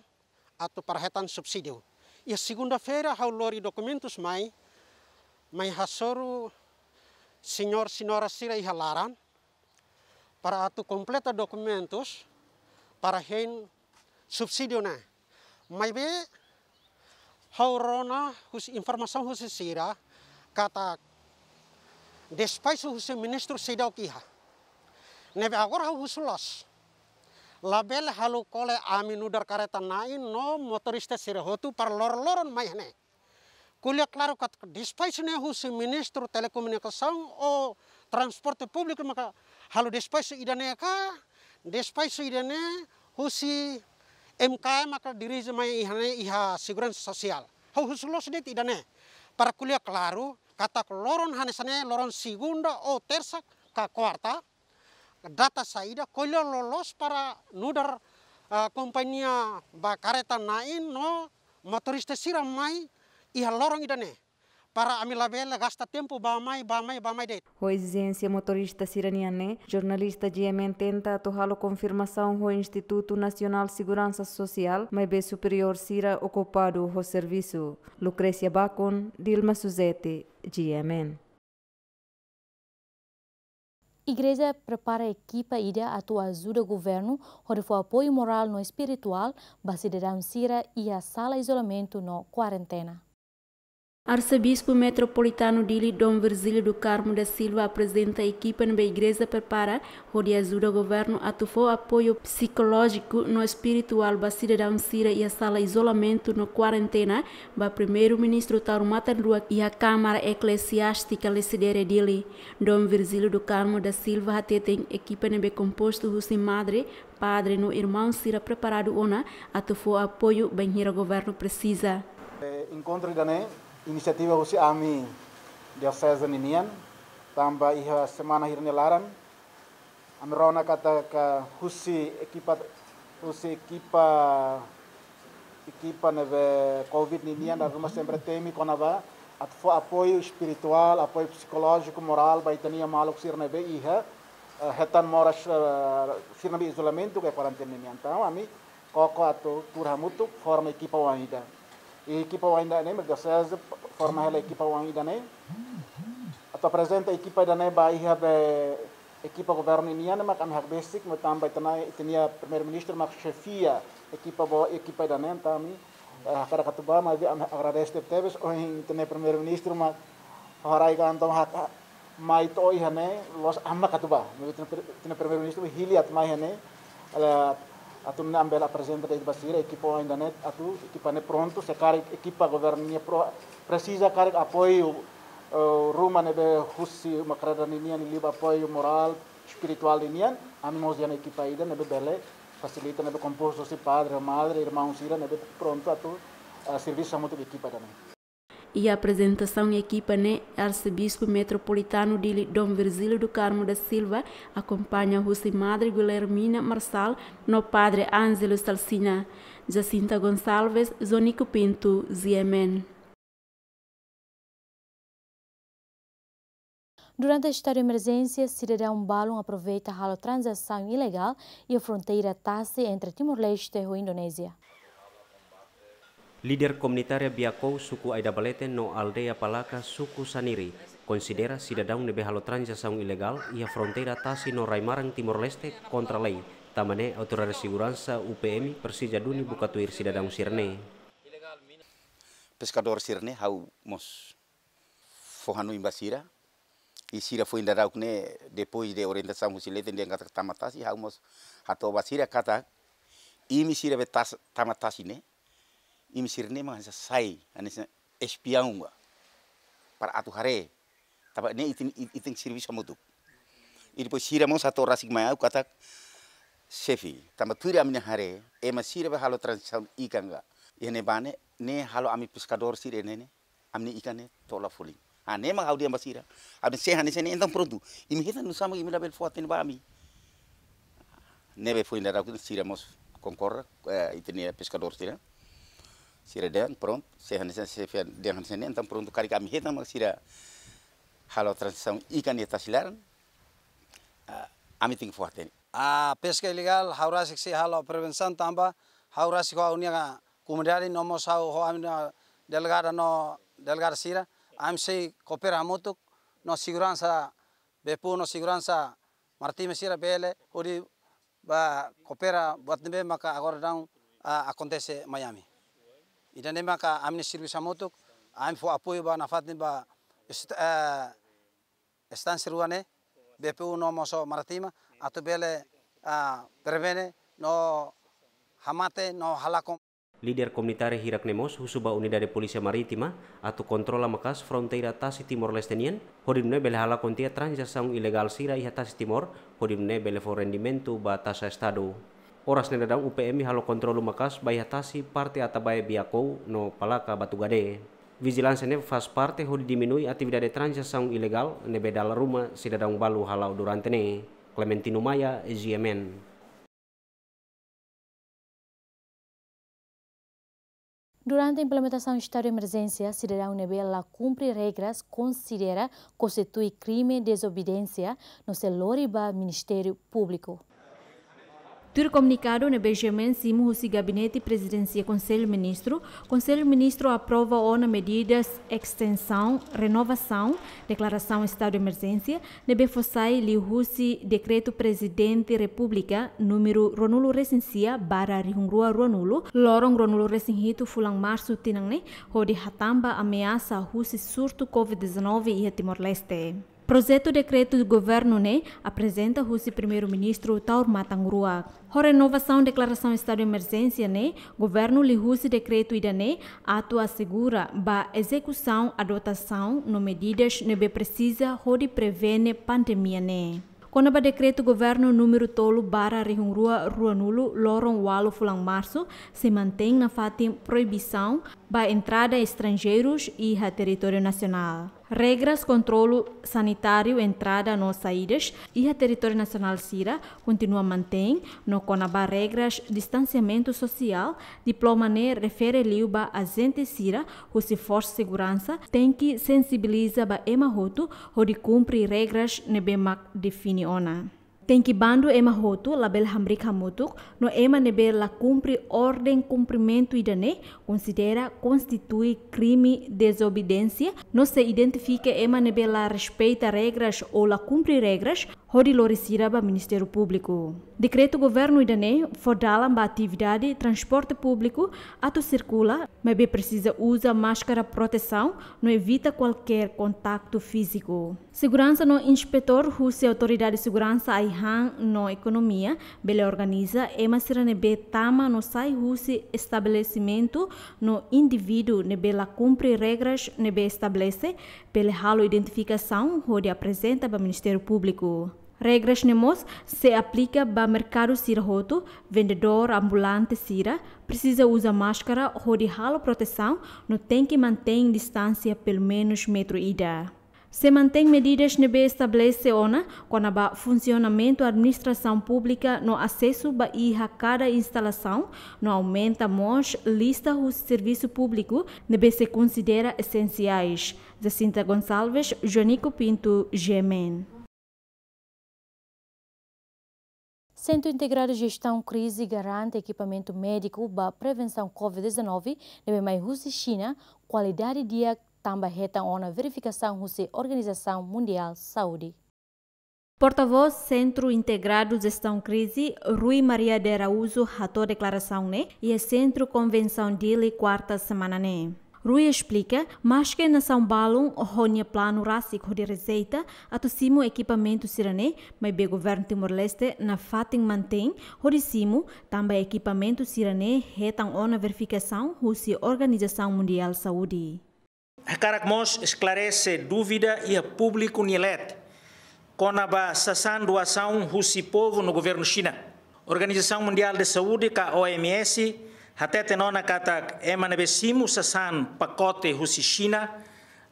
atu para hetan subsídiu. Iha segunda-feira ha'u lori dokumentus mai, mai hasoru señór señora sira iha laran, para atu kompleta dokumentus, para hein subsídiu ne'e. Maibé, ha'u rona husi informasaun husi sira, katak despaxu husi ministru seidauk iha. Ne'ebé agora ha'u husu loos. Labele halo kole ami nu'udar karreta na'in no motorista sira hotu para loron-loron mai iha ne'e. Ko'alia klaru katak despaxu ne'e husi Ministru Telekomunikasaun ou Transporte Públiku maka halo despaxu ida-ne'e ka, despaxu ida-ne'e husi M K M maka dirije mai iha ne'e iha Seguransa Sosiál. Ha'u husu loos de'it ida-ne'e. Para ko'alia klaru, katak loron hanesan ne'e, loron segunda ou tersa ka kuarta, data saida, ko'alia loloos para nu'udar, ah, kompañia ba karreta na'in no motorista sira mai iha loron ida-ne'e. Para ami labele gasta tempu bá mai, bá mai, bá mai de'it. Ho ezijénsia motorista sira-nian ne'e, jornalista G M N tenta atu halo konfirmasaun ho Institutu Nasionál Seguransa Sosiál, maibé superiór sira okupadu ho servisu. Lucrecia Bacon, Dilma Suzete, G M N. Igreja prepara ekipa ida atu ajuda governu hodi fó apoiu morál no espirituál ba sidadaun sira iha sala izolamentu no kuarentena. Arsebispu Metropolitanu Dili, Dom Virgílio do Carmo da Silva, aprezenta ekipa ne'ebé igreja prepara hodi ajuda governu atu fó apoiu psikolójiku no espirituál ba sidadaun sira iha sala izolamentu no kuarentena ba Primeiru-Ministru Taur Matan Ruak iha Kámara Eklesiástika Lecidere Dili. Dom Virgílio do Carmo da Silva hateten ekipa ne'ebé kompostu husi madre, padre no irmaun sira preparadu ona atu fó apoiu bainhira governu presiza. Eh, enkontru ida-ne'e inisiativa husi ami Dioseze ninian, tanba iha semana hirak nia laran, ami rona katak husi ekipa, husi ekipa, ekipa ne'ebé covid ninian dala ruma sempre temi kona-ba atu fó apoiu espirituál, apoiu psikolójiku, morál ba ita-nia maluk sira ne'ebé iha, eh, hetan moras, eh, sira ne'ebé izolamentu ka kuarentena ninian. Entaun ami koko atu tuur hamutuk forma ekipa oan ida. I ekipa oan ida ne'e, mak Dioseze forma hela ekipa oan ida ne'e. Atu aprezenta ekipa ida ne'e ba iha be ekipa governu ninian, mak ami hakbesik, mak tanba ita-nia, ita-nia Primeiru-Ministru mak xefia ekipa boot, ekipa ida ne'e, entaun ami, eh, hakarak atu bá, maibé ami agradese tebetebes, ohin ita-nia Primeiru-Ministru mak haraik entaun hak, mai to'o iha ne'e, loos ami mak atu bá. Maibé ita-nia Pri-, ita-nia Primeiru-Ministru hili atu mai iha ne'e, eh, atu nune'e ami bele aprezenta de'it ba sira, ekipa oan ida ne'e, atu ekipa ne'e prontu, se karik ekipa governu nian pro-, presiza karik apoiu, eh, ruma ne'ebé husi uma kreda ninian, liuliu apoiu morál, espirituál ninian, ami mós iha ekipa ida ne'ebé bele fasilita, ne'ebé kompostu husi padre, madre, irmaun sira ne'ebé prontu atu, eh, servisu hamutuk ho ekipa ida ne'e. Iha aprezentasaun ekipa ne'e, Arsebispu Metropolitanu Dili Dom Virgílio do Carmo da Silva akompaña husi Madre Guilhermina Marçal no Padre Ângelo Salsinha. Jacinta Gonçalves, Zonico Pinto, G M N. Durante estadu de emerjénsia, sidadaun balun aproveita halo tranzasaun ilegál iha fronteira tasi entre Timor-Leste ho Indonézia. Líder komunitária Biakou, suku Aidabalete, no aldeia Palaka, suku Saniri, konsidera sidadaun ne'ebé halo tranzasaun ilegál iha fronteira tasi no rai-maran Timor-Leste kontra lei, tanba ne'e autoridade seguransa U P M presiza duni buka tuir sidadaun sira-ne'e. Peskadór sira-ne'e ha'u mós fó hanoin ba sira. I sira foin daudauk ne'e, depois de orientasaun husi leten dehan katak tama tasi, ha'u mós hato'o ba sira katak imi sira be tas-, tama tasi ne'e, imi sira-ne'e mak hanesan sai, hanesan espiaun ba, para atu haree. Tanba ne'e ita-nia, ita-nia servisu hamutuk. I depois sira mós hato'o rasik mai ha'u katak, xefe, tanba tuir ami-nia haree, ema sira be halo tranzasaun ikan ka iha ne'ebá ne'e, ne'e halo ami peskadór sira ne'e, ne'e ami-nia ikan ne'e to'o la folin. Ah, ne'e mak ha'u dehan ba sira. Ami se hanesan ne'e entaun prontu. Imi hetan nusá mak imi labele fó-hatene ba ami. Ne'ebé foin daudauk ne'e sira mós konkorda, eh, ita-nia peskadór sira. Sira dehan prontu, se hanesan, se fe-, dehan hanesan ne'e entaun prontu, karik ami hetan mak sira halo tranzasaun ikan iha tasi laran, ah, ami tenke fó-hatene. Ah, peska ilegál, ha'u rasik sei halo prevensaun tanba, ha'u rasik ho ha'u-nia komunidade no mós ha'u ho ami-nia delegada no delegada sira, ami sei koopera hamutuk no seguransa bee puun no seguransa marítima sira bele hodi bá koopera buat ne'ebé maka agora daudaun, ah, akontese mai ami. Ida-ne'e maka ami-nia servisu hamutuk, ami fó apoiu ba nafatin ba est-, eh, instánsia rua ne'e, B P U no mós marítima, atu bele, ah, prevene no hamate no halakon. Líder komunitária hirak ne'e mós husu ba Unidade Polísia Marítima atu kontrola maka'as fronteira tasi Timor-Leste nian, hodi nune'e bele halakon tiha tranzasaun ilegál sira iha tasi Timor, hodi nune'e bele fó rendimentu ba taxa estadu. Oras ne'e daudaun U P M halo kontrolu maka'as ba iha tasi parte Atabae Biakou no Palaka Batugade. Vijilánsia ne'e faz parte hodi diminui atividade tranzasaun ilegál ne'ebé dala ruma sidadaun balu hala'o durante ne'e. Clementino Maia, G M N. Durante implementasaun estadu de emerjénsia, sidadaun ne'ebé la kumpre regras konsidera konstitui krime dezobediénsia no sei lori ba Ministériu Públiku. Tuir komunikadu ne'ebé G M N simu husi Gabinete Prezidénsia Konsellu Ministru, Konsellu Ministru aprova ona medidas estensaun, renovasaun, deklarasaun estadu de emerjénsia, ne'ebé fó sai liuhusi Dekretu Prezidente Repúblika númeru ruanulu-resin-sia barra rihun rua ruanulu, loron ruanulu-resin-hitu fulan Marsu tinan ne'e, hodi hatán ba ameasa husi surtu covid dezanove iha Timor-Leste. Projetu dekretu governu ne'e aprezenta husi Primeiru-Ministru Taur Matan Ruak. Ho renovasaun deklarasaun estadu de emerjénsia ne'e, governu liuhusi dekretu ida-ne'e atu asegura ba ezekusaun adotasaun no medidas ne'ebé presiza hodi prevene pandemia ne'e. Kona-ba dekretu governu númeru tolu barra rihun rua ruanulu, loron ualu fulan Marsu, sei mantein nafatin proibisaun ba entrada estranjeirus iha territóriu nasionál. Regras kontrolu sanitáriu entrada no saídas iha territóriu nasionál sira kontinua mantein, no kona-ba regras distansiamentu sosiál, diploma ne'e refere liu ba ajente sira husi forsa seguransa tenke sensibiliza ba ema hotu hodi kumpre regras ne'ebé mak define ona. Tenke bandu ema hotu labele hamriik hamutuk, no ema ne'ebé la kumpre orden kumprimentu ida-ne'e konsidera konstitui krime dezobediénsia, no sei identifika ema ne'ebé la respeita regras ou la kumpre regras, hodi lori sira ba Ministériu Públiku. Dekretu governu ida-ne'e fó dalan ba atividade transporte públiku atu sirkula, maibé presiza uza máskara protesaun no evita kualkér kontaktu fíziku. Seguransa no inspetór husi Autoridade Seguransa Ai-han no Ekonomia bele organiza ema sira ne'ebé tama no sai husi estabelesimentu no indivíduu ne'ebé la kumpre regras ne'ebé estabelese, bele halo identifikasaun hodi aprezenta ba Ministériu Públiku. Regras ne'e mós sei aplika ba merkadu sira hotu, vendedór ambulante sira presiza uza máskara hodi halo protesaun no tenke mantein distánsia pelumenus metru ida. Sei mantein medidas ne'ebé estabelese ona kona-ba funsionamentu administrasaun públika no asesu ba iha kada instalasaun, no aumenta mós lista husi servisu públiku ne'ebé sei konsidera esensiais. Jacinta Gonçalves, Joanico Pinto, G M N. Sentru Integradu Jestaun Krize garante ekipamentu médiku ba prevensaun covid dezanove ne'ebé mai husi Xina, kualidade di'ak, tanba hetan ona verifikasaun husi Organizasaun Mundiál Saúde. Portavós Sentru Integradu Jestaun Krize, Rui Maria de Araújo, hato'o deklarasaun ne'e iha Sentru Konvensaun Dili, kuarta semana ne'e. Rui esplika, maske nasaun balun ho nia planu rasik hodi rejeita atu simu ekipamentu sira-ne'e, maibé governu Timor-Leste nafatin mantein hodi simu, tanba ekipamentu sira-ne'e hetan ona verifikasaun husi Organizasaun Mundiál Saúde. Hakarak mós esklarese dúvida iha públiku nia leet kona-ba sasán doasaun husi povu no governu Xina. Organizasaun Mundiál de Saúde ka O M S hateten ona katak ema ne'ebé simu sasán pakote husi Xina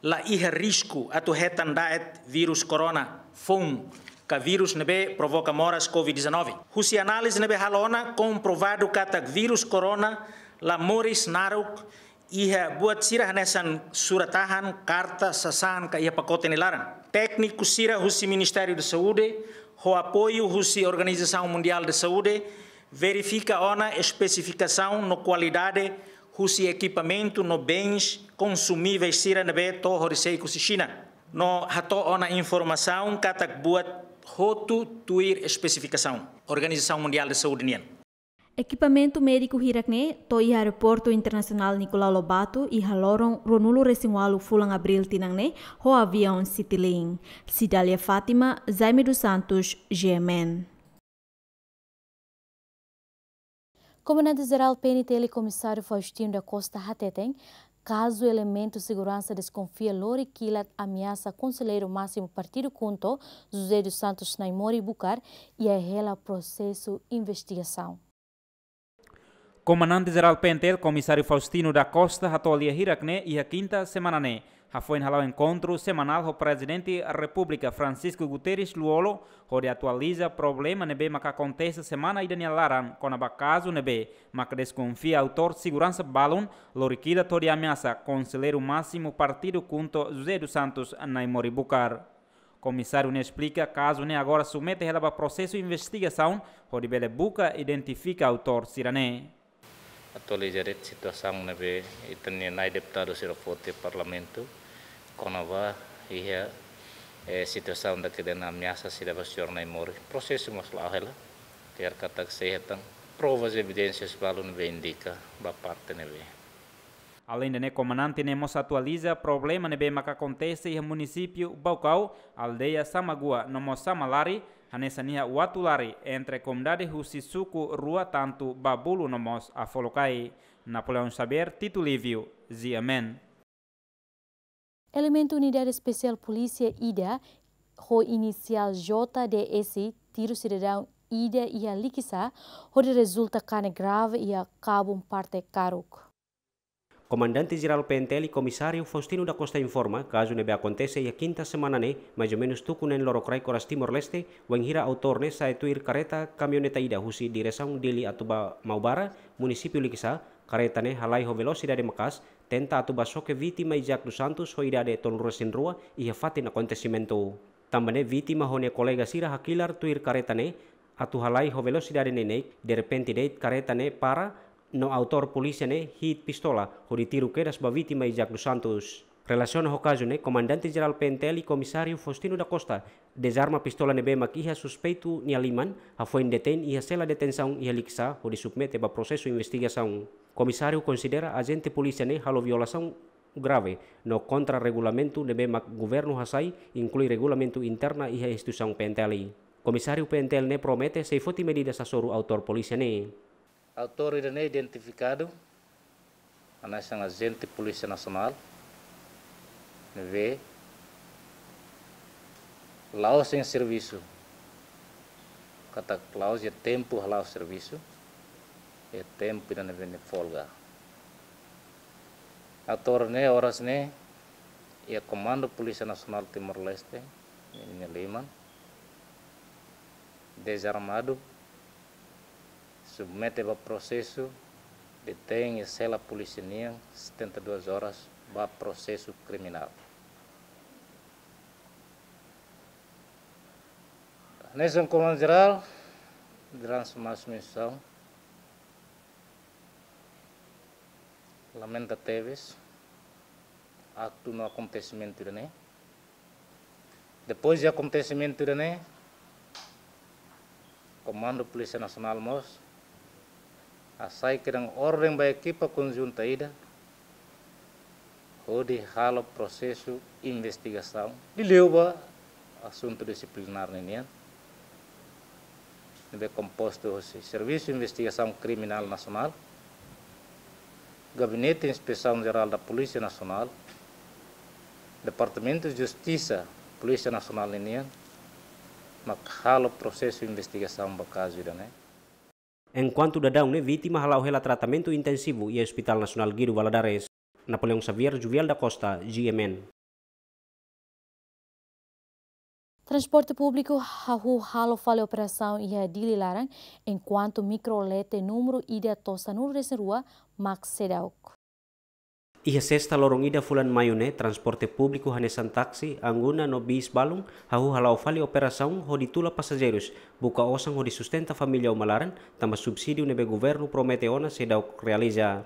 la iha risku atu hetan da'et vírus korona foun ka vírus ne'ebé provoka moras covid dezanove. Husi análize ne'ebé halo ona, komprovadu katak vírus korona la moris naruk iha buat sira hanesan surat-tahan, karta, sasán ka iha pakote nia laran. Tékniku sira husi Ministériu de Saúde, ho apoiu husi Organizasaun Mundiál de Saúde, verifika ona espesifikasaun no kualidade husi ekipamentu no bens konsumivéis sira ne'ebé to'o horiseik husi Xina. No hato'o ona informasaun katak buat hotu tuir espesifikasaun Organizasaun Mundiál de Saúde nian. Ekipamentu médiku hirak-ne'e to'o iha Aeroportu Internasionál Nicolau Lobato iha loron ruanulu-resin-ualu fulan Abríl tinan ne'e ho aviaun Citilink. Cidália Fátima, Jaime dos Santos, G M N. Komandante Jerál P N T L Komisáriu Faustino da Costa hateten, kazu elementu seguransa deskonfia lori kilat ameasa Konselleiru Másimu Partidu KHUNTO, José dos Santos Naimori Bucar, iha hela prosesu investigasaun. Komandante Jerál P N T L Komisáriu Faustino da Costa hato'o lia hirak-ne'e iha kinta semana ne'e, hafoin hala'o enkontru semanál ho Prezidente Repúblika Francisco Guterres Lú-Olo, hodi atualiza problema ne'ebé maka akontese semana ida nia laran kona-ba kazu ne'ebé maka deskonfia autór seguransa balun lori kilat hodi ameasa Konselleiru Másimu Partidu KHUNTO, José dos Santos Naimori Bucar. Komisáriu ne'e esplika kazu ne'e agora submete hela ba prosesu investigasaun hodi bele buka identifika autór sira-ne'e. Atualiza de'it situasaun ne'ebé ita-nia nai deputadu sira foti iha Parlamentu kona-ba iha, eh, situasaun dakedan ameasa sira ba señór Naimori. Prosesu mós la'o hela. Tiar katak sei hetan provas, evidénsias balun ne'ebé indika ba parte ne'ebé. Aleinde ne'e, komandante ne'e mós atualiza problema ne'ebé maka akontese iha munisípiu Baucau, aldeia Samagua no mós Samalari, hanesan iha Uatulari, entre komunidade husi suku rua tantu Babulu no mós Afolokai. Napoleão Xavier, Tito Lívio, G M N. Elementu Unidade Espesiál Polísia ida ho inisiál J D S tiru sidadaun ida iha Likisá, hodi rezulta kanek grave iha kabun parte karuk. Komandante Jerál P N T L, Komisáriu Faustino da Costa informa, kazu ne'ebé akontese iha kinta semana ne'e, mais ou menus tuku neen lorokraik oras Timor-Leste, wainhira autór ne'e sa'e tuir kareta kamioneta ida husi diresaun Dili atu ba Maubara, munisípiu Likisá, kareta ne'e halai ho velosidade maka'as, tenta atu ba xoke vítima Isaac dos Santos ho idade tolunulu-resin-rua iha fatin akontesimentu. Tanba ne'e vítima ho nia kolega sira hakilar tuir kareta ne'e atu halai ho velosidade neineik, derrepente de'it kareta ne'e para, no autór polísia ne'e hi'it pistola hodi tiru kedas ba vítima Isaac dos Santos. Relasiona ho kazu ne'e, Komandante Jerál P N T L, Komisáriu Faustino da Costa, dezarma pistola ne'ebé mak iha suspeitu nia liman, hafoin detein iha sela detensaun iha Likisá hodi submete ba prosesu investigasaun. Komisáriu konsidera ajente polísia ne'e halo violasaun grave no kontra regulamentu ne'ebé mak governu hasai, inklui regulamentu interna iha instituisaun P N T L. Komisáriu P N T L ne'e promete sei foti medidas hasoru autór polísia ne'e. Autór ida-ne'e identifikadu hanesan ajente Polísia Nasionál ne'ebé la'ós iha servisu, katak la'ós iha tempu hala'o servisu, iha tempu ida ne'ebé nia folga. Autór ne'e oras ne'e iha Komandu Polísia Nasionál Timor-Leste, ninia liman, dezarmadu, submete ba prosesu, detein iha sela polísia nian setenta e duas horas ba prosesu kriminál. Hanesan Komandante Jerál, durante mais mensaun, lamenta tebes aktu no akontesimentu ida-ne'e. Depois de akontesimentu ida-ne'e, Komandu Polísia Nasionál mós hasai kedan orden ba ekipa konjunta ida hodi halo prosesu investigasaun liuliu ba asuntu disiplinár ninian, ne'ebé kompostu hosi Servisu Investigasaun Kriminál Nasionál, Gabinete Inspesaun Jerál da Polísia Nasionál, Departamentu Justisa Polísia Nasionál ninian, mak halo prosesu investigasaun ba kazu ida-ne'e. Enkuantu daudaun ne'e, vítima hala'o hela tratamentu intensivu iha Hospital Nasionál Guido Valadares. Napoleão Xavier, Juvial da Costa, G M N. Transporte públiku hahú halo fali operasaun iha Dili laran, enkuantu mikro lete númeru ida to'o sanulu-resin-rua mak seidauk. Iha sesta loron ida fulan maiu ne'e, transporte públiku hanesan taksi, angguna no bis balun hahú hala'o fali operasaun hodi tula pasajeirus, buka osan hodi sustenta família uma laran, tanba subsídiu ne'ebé governu promete ona seidauk realiza.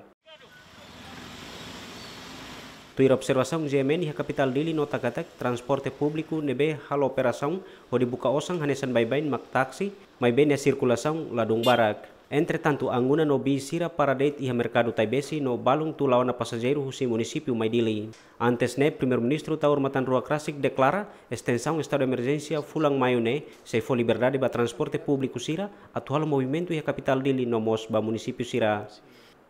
Tuir observasaun G M N iha kapitál Dili nota katak transporte públiku ne'ebé halo operasaun hodi buka osan hanesan baibain mak taksi, maibé nia sirkulasaun ladún barak. Entretantu, angguna no bis sira para de'it iha merkadu Taibesi no balun tula ona pasajeiru husi munisípiu mai Dili. Antes ne'e, Primeiru-Ministru Taur Matan Ruak rasik deklara estensaun estadu emerjénsia fulan maiu ne'e sei fó liberdade ba transporte públiku sira atu halo movimentu iha kapitál Dili no mós ba munisípiu sira.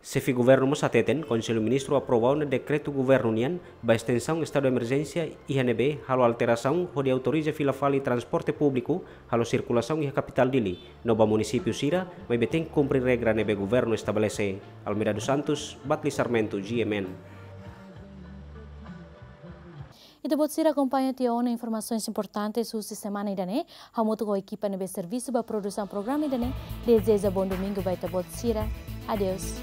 Xefe governu mós hateten, Konsellu Ministru aprova ona dekretu governu nian ba estensaun estadu emerjénsia iha ne'ebé halo alterasaun hodi autoriza fila fali transporte públiku halo sirkulasaun iha kapitál Dili no ba munisípiu sira, maibé tenke kumpre regra ne'ebé governu estabelese. Almeida dos Santos, Batli Sarmento, G M N. Ita-boot sira akompaña tiha ona informasaun importante husi semana ida-ne'e. Hamutuk ho ekipa ne'ebé servisu ba produsaun programa ida-ne'e, dezeja bom domingu ba ita-boot sira. Adeus.